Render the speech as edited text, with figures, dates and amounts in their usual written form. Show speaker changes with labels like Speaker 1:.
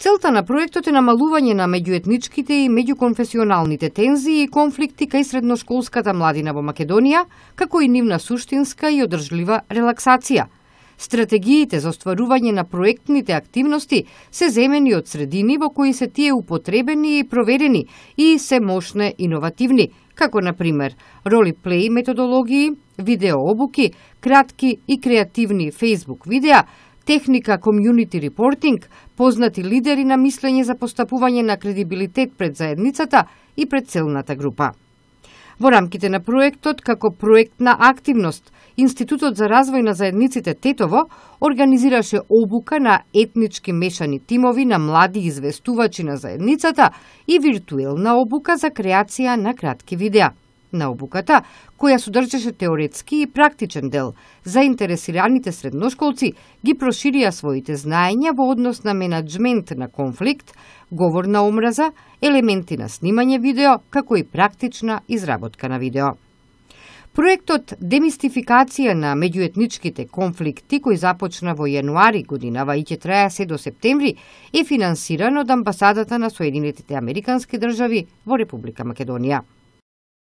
Speaker 1: Целта на проектот е намалување на меѓуетничките и меѓуконфесионалните тензии и конфликти кај средношколската младина во Македонија, како и нивна суштинска и одржлива релаксација. Стратегиите за остварување на проектните активности се земени од средини во кои се тие употребени и проверени и се мощне иновативни, како на пример ролиплей методологии, видеообуки, кратки и креативни Facebook видеа, техника community reporting, познати лидери на мислење за постапување на кредибилитет пред заедницата и пред целната група. Во рамките на проектот, како проектна активност, Институтот за развој на заедниците Тетово организираше обука на етнички мешани тимови на млади известувачи на заедницата и виртуелна обука за креација на кратки видеа. На обуката, која содржеше теоретски и практичен дел, заинтересираните средношколци ги проширија своите знаења во однос на менаџмент на конфликт, говор на омраза, елементи на снимање видео, како и практична изработка на видео. Проектот Демистификација на меѓуетничките конфликти, кој започна во јануари годинава и ќе трае се до септември, е финансиран од Амбасадата на Соединетите Американски држави во Република Македонија.